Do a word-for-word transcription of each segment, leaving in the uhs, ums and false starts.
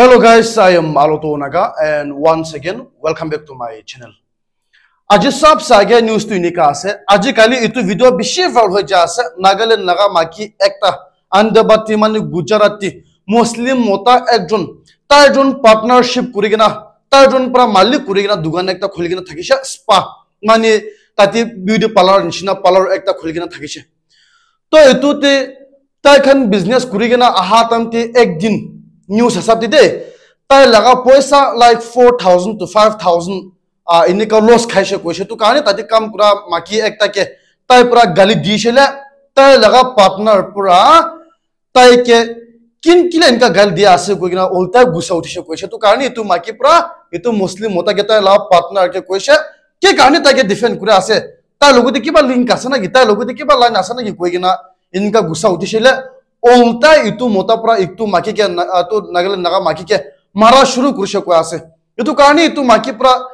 Hello guys, I am Aloto Naga and once again welcome back to my channel. Aji sab se age news tu enika ase. Aji kali itu video bishi viral hoi ja ase. Nagaland laga maki ekta Andabati mani Gujarati Muslim mota ekjon, tai jon partnership kuri kena, tai jon pra malik kuri kena dukan ekta khuli kena thakishe, spa mani tate beauty parlor nishina parlor ekta khuli kena thakishe. To etu te tai khan business kuri kena aha time te ek din news hisab te de tai laga poisa like four thousand to five thousand ah enika loss khaishe koishe. Tu karne tate kam kura maki ekta ke tai pura gali dishe le, tai laga partner pura tai ke kin kile enika gali dia ase koi kena ulta gusa uthishe koishe. Tu karne etu maki pura etu Muslim mota ke tai laga partner ke koishe, ke karne tai ke defend kura ase, tai logote kiba link ase naki, tai logote kiba line ase naki koi kena enika gusa uthishe le, ulta etu mota pura etu maki ke na- ah, tu Nagaland laga maki ke mara shuru kurishe koi ase. Etu karne etu maki pura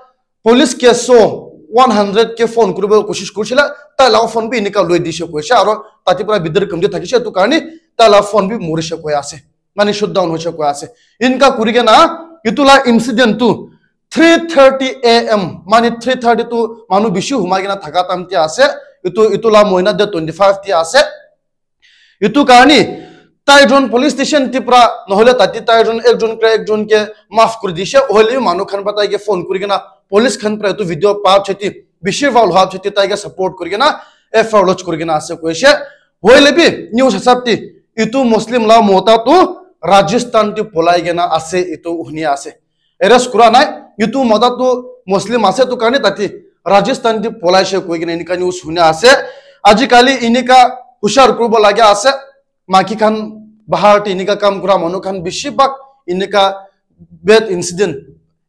police ke so one hundred ke phone kuribo koshish kurishe le, tai laga phone bi enika loi dishe koishe aro tate pura bidar kamde thakishe, etu karne tai laga phone bi morishe koi ase, mani shutdown hoishe koi ase. Enika kuri kena etu la incident tu three thirty a m mani three thirty tu manu bishi humai kena thaka time te ase. Etu etu la moina de twenty five te ase. Etu karne tai jon police station te pura nohole tate tai jon ekjon kra ekjon ke maaf kuri dishe. Hoile bi manu khan pura tai ke phone kuri kena police khan pura etu video pa cheti bishi viral hua cheti tai ke support kuri kena F I R lodge kuri kena ase koishe. Hoile bi news hisab te etu Muslim la mota tu Rajasthan te polai kena ase, etu huni ase. Arrest kura nai. Etu mota tu Muslim ase, tu karne tate Rajasthan te polaishe koi kena enika news huni ase. Aji kali enika hushar kuribo lage ase. Maki khan bahar te enika kam kura manu khan bishi bhag enika bad incident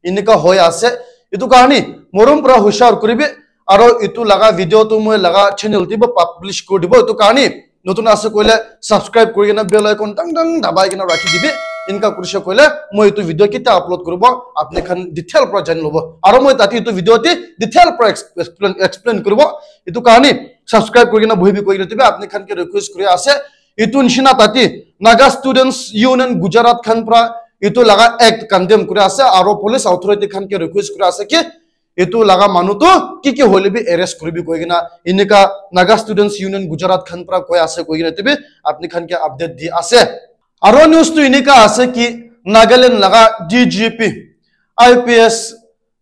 enika hoi ase. Etu karne morom pura hushar kuribi. Aro etu laga video tu moi laga channel te bi publish kuri dibo. Etu karne notun ase koile subscribe kuri kena bell icon dang dang dabai kena rakhi dibi. Enika kurishe koile moi etu video ketia upload kuribo apni khan detail pura jani lobo. Aro moi tate etu video te detail pura ex- explain, explain kuribo. Etu karne subscribe kuri kena bohibi koi kena tibi apni khan ke request kuri ase. Etu nishina tate Naga Students Union Gujarat khan pura etu laga act condemn kuri ase aro police authority khan ke request kuri ase ki etu laga manu tu ki ki hoile bi arrest kuribi koi kena enika Naga Students Union Gujarat khan pura koi ase koi kena tibi apni khan ke update di ase. Aro news tu enika ase ki Nagaland laga D G P I P S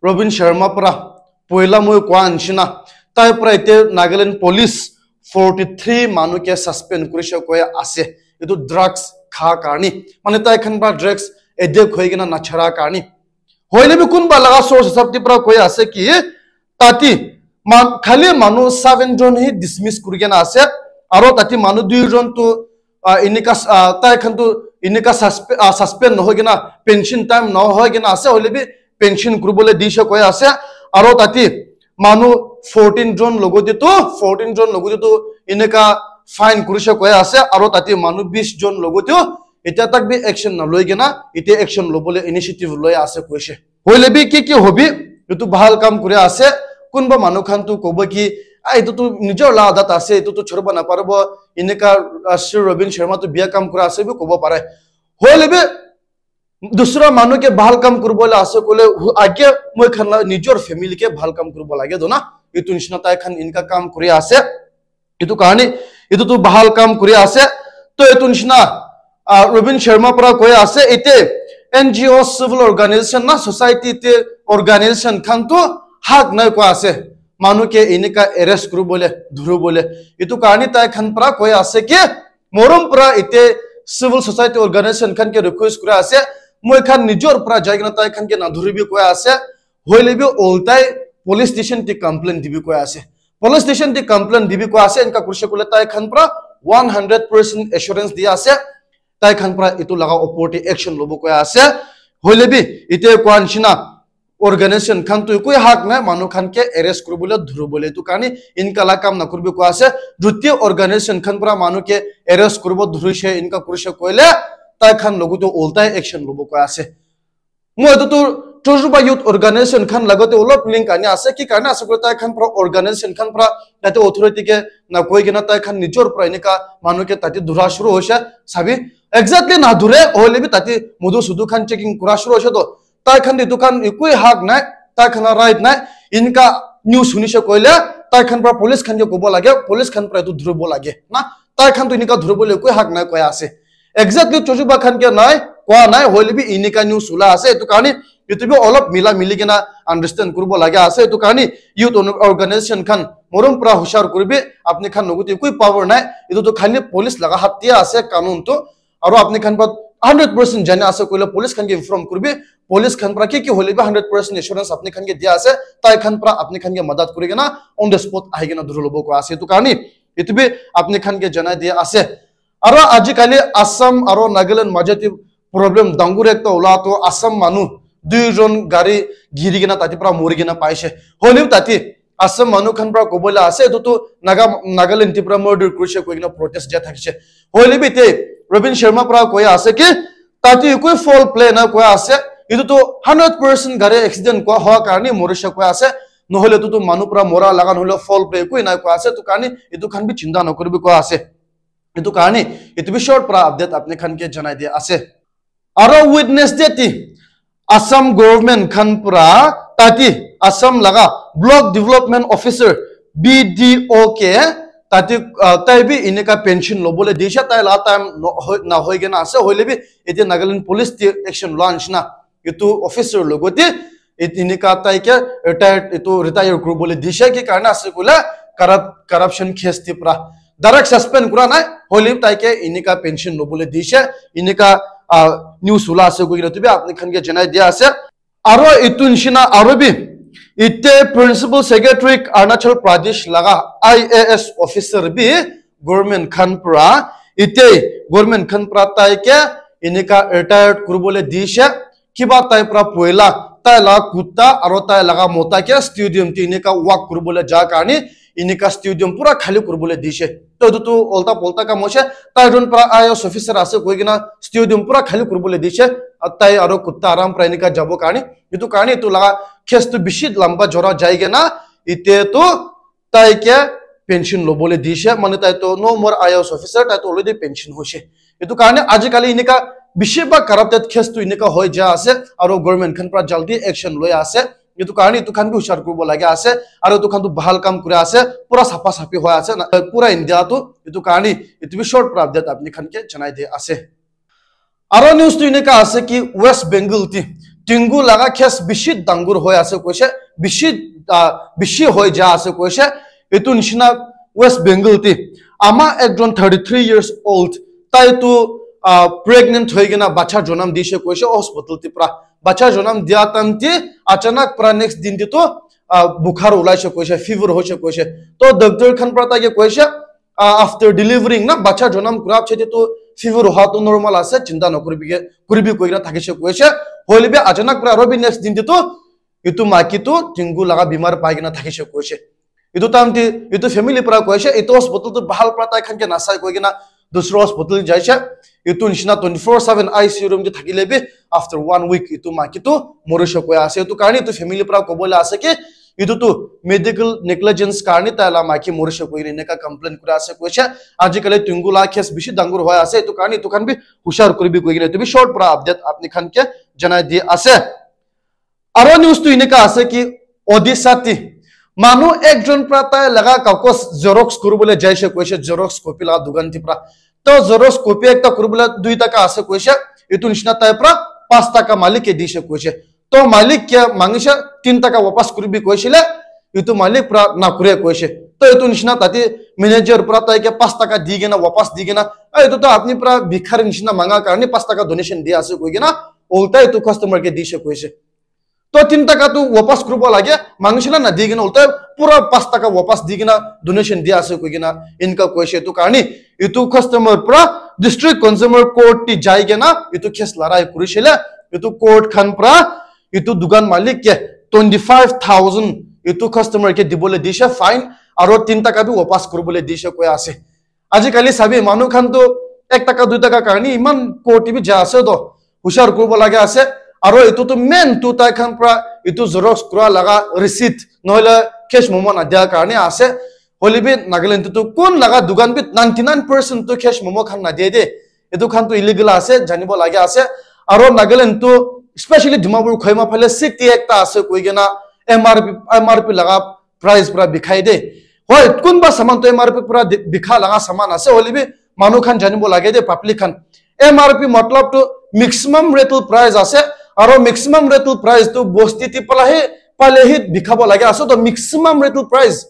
Robin Sharma pura poila moi koa nishina tai pura ite Nagaland police forty three manu ke suspend kurishe koi ase. Etu drugs kha karne mane tai khan pura drugs addict hoi kena nachara karne. Hoile bi kunba laga source hisab te pura koi ase ki tate man- khali manu seven jon hi dismiss kuri kena ase aro tate manu dui jon tu ah, enika ah, tai khan tu enika suspe- ah, suspend nohoi kena pension time nohoi kena ase, hoile bi pension kuribole dishe koi ase. Aro tate manu fourteen jon logote tu fourteen jon logote tu enika fine kurishe koi ase aro tate manu bis jon logote etia tak bi action naloi kena etia action lobole initiative loi ase koishe. Hoile bi ki ki hobi etu bhal kam kuri ase. Kunba manu khan tu kobo ki ah etu tu nijor la adat ase, etu tu choribo naparibo, enika ah, Sri Robin Sharma tu biya kam kura ase bi kobo pare. Hoile bi dusra manu ke bhal kam kuribo la ase koile hu- age moi khan la nijor family ke bhal kam kuribo lage do na. Etu nishina tai khan enika kam kuri ase. Etu karne etu tu bhal kam kuri ase. To etu nishina ah, Robin Sharma pura koi ase ite N G O civil organization na society te organization khan tu hak nai koi ase manu ke enika arrest kuribole dhuribole. Etu karne tai khan pura koi ase ke morom pura ite civil society organization khan ke request kuri ase moi khan nijor pura jai kena tai khan ke nadhuribi koi ase. Hoile bi oltai police station te complaint dibi koi ase. Police station te complaint dibi koi ase enika kurishe koile tai khan pura one hundred percent assurance di ase tai khan pura etu laga opor te action lobo koi ase. Hoile bi ite koa nishina organization khan tu ekoi hak nai manu khan ke arrest kuribole dhuribole, etu karne enika la kam nakuribi koi ase. Juti organization khan pura manu ke arrest kuribo dhurishe enika kurishe koile tai khan logote oltai action lobo koi ase. Moi etu tu Chozuba Youth Organization khan lagote olop link ani ase ki karne ase koile tai khan pura organization khan pura tate authority ke na koi kena tai khan nijor pura enika manu ke tate dhura shuru hoise sabi. Exactly na dhure, hoile bi tate mudu sudu khan checking kura shuru hoise to. Tai khan etu khan ekoi hak nai, tai khan la right nai. Inka news hunishe koile, tai khan pra police khan ke kobo lage, police khan pra etu dhuribo lage. Na, tai khan to inika dhuribo le ekoi hak nai koi ase. Exactly chojuba khan ke nai, koa nai, hoile bi inika news ula ase. Etu karni, etu bi olop mila mili kena understand kuribo lage ase. Etu karni, youth organization khan, morom pra hushar kuribi, apni khan logote ekoi power nai. Etu to khali police laga hat te ase, kanun to. Aro apni khan pra hundred percent jani ase koile police khan ke inform kuribi. Police khan pra ki ki hoile bi hundred percent assurance apni khan ke dia ase. Tai khan pra apni khan ke madat kuri kena on the spot ahi kena dhuri lobo koi ase. Etu karni, etu bi apni khan ke janai dia ase. Aro ajikali Assam aro Nagaland maje te problem dangur ekta ula to Assam manu dui jon gari giri kena tate pra mori kena paise. Hoile bi tate Assam manu khan pra kobole ase, etu tu Naga, Nagaland te pra murder kurise koi kena protest dia thakise. Hoile bi te Robin Sharma pra koi ase ki tate ekoi foul play na koi ase. Etu tu hundred percent gari accident koi hoa karni morise koi ase. Nohole etu tu manu pra mora laga nohole foul play ekoi na koi ase. Etu karni etu khan bi chinta nokoribi koi ase. Etu karni etu bi short pra update apni khan ke janai dia ase. Aro Wednesday ti Assam government khan pra tate Assam laga block development officer B D O ke tate, ah, tai bi inika pension lobole dishe, tai la time no hoi, na hoi kena ase, hoile bi etia Nagaland police te action loa nishina etu officer logote et-, inika tai ke retired, etu retire kuribole dishe ki karne ase koile corrupt-, corruption case te pra direct suspend kura nai, hoile bi tai ke inika pension lobole dishe, inika, ah, news ula ase koi kena tu bi apni khan ke janai dia ase. Aro etu nishina aro bi ite Principal Secretary Arunachal Pradesh laga I A S officer bi government khan pra, ite government khan pra tai ke inika retired kuribole dishe, kiba tai pra poila tai la kutta aro tai laga mota ke stadium te inika walk kuribole ja karne inika stadium pura khali kuribole dishe. To etu tu ulta pulta kam hoise. Tai jon pra I A S officer ase koi kena stadium pura khali kuribole dishe. A tai aro kutta aram pra inika jabo karne. Etu karne etu laga case tu bishi lamba jora jai kena ite tu tai ke pension lobole dishe. Mane tai to no more I A S officer, tai to already pension hoise. Etu karne ajikali inika bishi ba corrupted case tu inika hoi ja ase, aro government khan pra jaldi action loi ase. Etu karne etu khan bi hushar kuribo lage ase, aro etu khan tu bahal kam kuri ase, pura sapha saphi hoi ase na, pura India tu. Etu karne etu bi short pra update apni khan ke janai di ase. Aro news tu enika ase ki West Bengal ti dengue laga case bishi dangur hoi ase koise, bishi, ah, bishi hoi ja ase koise. Etu nishina West Bengal ti ama ekjon thirty three years old, tai tu, ah, pregnant hoi kena bacha jonam dishe koise hospital ti pra. Bacha jonam dia time ti achanak pra next din ti tu, ah, bukhar ulaise koise, fever hoise koise. To doctor khan pra tai ke koise, ah, after delivering na bacha jonam kura pichete tu fever oha tu normal ase, chinta nokuribi ke, kuribi koi kena thakise koise. Hoile bi achanak pra aro bi next din te tu etu maiki tu dengue laga bimar pai kena thakise koise. Etu time te etu family pra koise, etu hospital tu bahal pra tai khan ke nasai koi kena dusra hospital jaise. Etu nishina twenty four seven I C U room te thakile bi after one week etu maiki tu morise koi ase. Etu karne etu family pra kobole ase ki etu tu medical negligence karne tai la maiki morise koi kena eneka complain kuri ase koise. Ajikali dengue la case bishi dangur hoi ase, etu karne etu khan bi hushar kuribi koi kena etu bi short pra update apni khan ke janai di ase. Aro news tu eneka ase ki Odisha ti manu ekjon pra tai laga kakos xerox kuribole jaise koise, xerox copy laga dukan ti pra. To xerox copy ekta kuribole dui taka ase koise, etu nishina tai pra pas taka malik ke dise koise. To malik ke mangise tin taka wapas kuribi koisile, etu malik pra nakure koise. To etu nishina tate manager pra tai ke pas taka di kena wapas di kena, "Ah, etu to apni pra bikhari nishina manga karne pas taka donation di ase," koi kena ulta etu customer ke dise koise. To tin taka tu wapas kuribo lage, mangise na nadi kena ulta pura pas taka wapas di kena donation di ase koi kena eneka koise. Etu karne etu customer pra district consumer court ti jai kena etu case larai kurisile, etu court khan pra etu dukan malik ke twenty five thousand etu customer ke dibole dise fine, aro tin taka bi wapas kuribole dise koi ase. Ajikali sabi manu khan tu ek taka dui taka karne iman court bi ja ase to hushar kuribo lage ase. Aro etu tu main tu tai khan pra etu xerox kura laga receipt nohole cash memo nadia karne ase. Hoile bi Nagaland tu kun laga dukan bi ninety nine percent tu cash memo khan nadie de. Etu khan tu illegal ase, janibo lage ase. Aro Nagaland tu, especially Dimapur Kohima phale city ekta ase koi kena M R P, M R P laga price pura bikhai de. Hoi, kunba saman tu M R P pura di- bikha laga saman ase, hoile bi manu khan janibo lage de, public khan. M R P matlab tu maximum retail price ase, aro maximum retail price tu bosti ti pala he, pale he bikhabo lage ase, to maximum retail price.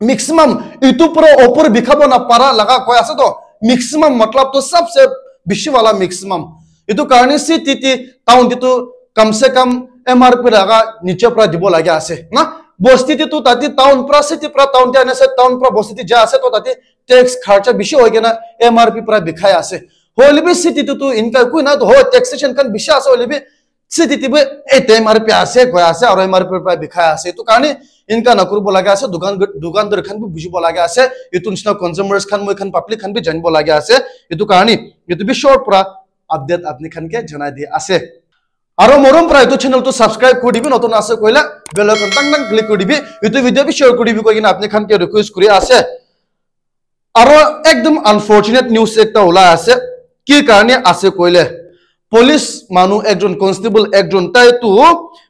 Maximum, itu pura opor bikhabo na para laga koi ase to, maximum matlab to sabse bishi wala maximum. Itu karne city ti town ti tu kam se kam M R P laga niche pura dibo lage ase na. Bosti ti tu tati town pura, city pura town ti ane se, town pura bosti ti ja ase to tati tax kharcha bishi hoi kena M R P pura bikhai ase. Hoile bi city ti tu inka kui na to ho, taxation khan bishi ase, hoile bi city ti bi ei te M R P ase, koi ase, aro M R P pra bikhai ase. Etu karne inka nakuribo lage ase, dukan, dukandar khan bi bujibo lage ase. Etu nisna consumers khan, moi khan public khan bi janibo lage ase. Etu karne, etu bi short pura update apni khan ke janai di ase. Aro morom pura etu channel tu subscribe kuri dibi, notun ase koile bell icon tang tang click kuri dibi. Etu video bi share kuri dibi koi kena apni khan ke request kuri ase. Aro ekdom unfortunate news ekta ulai ase. Ki karne ase koile, police manu ekjon, constable ekjon, tai tu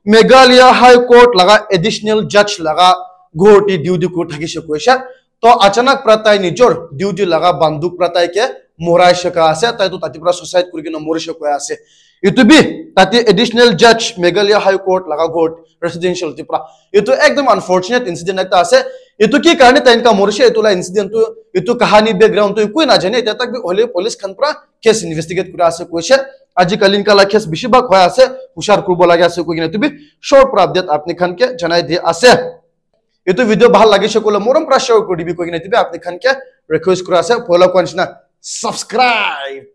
Meghalaya High Court laga additional judge laga ghor te duty kuri thakise koise. To achanak pra tai nijor duty laga banduk pra tai ke morai shaka ase, tai tu tati pra suicide kuri kena mori shaka ase. Etu bi tate additional judge Meghalaya High Court laga ghor residential ti pra. Etu ekdom unfortunate incident ekta ase. Etu ki karne tai enka morise, etu la incident tu, etu kahani background tu ekoi najane, etia tak bi hole police khan pra case investigate kura ase koise. Aji kali enka la case bishi bhag hoi ase, hushar kuribo lage ase koi kena etu bi short pra update apni khan ke janai di ase. Etu video bhal lagise koile morom pra share kuri dibi koi kena etu bi apni khan ke request kura ase. Poila koa nishina subscribe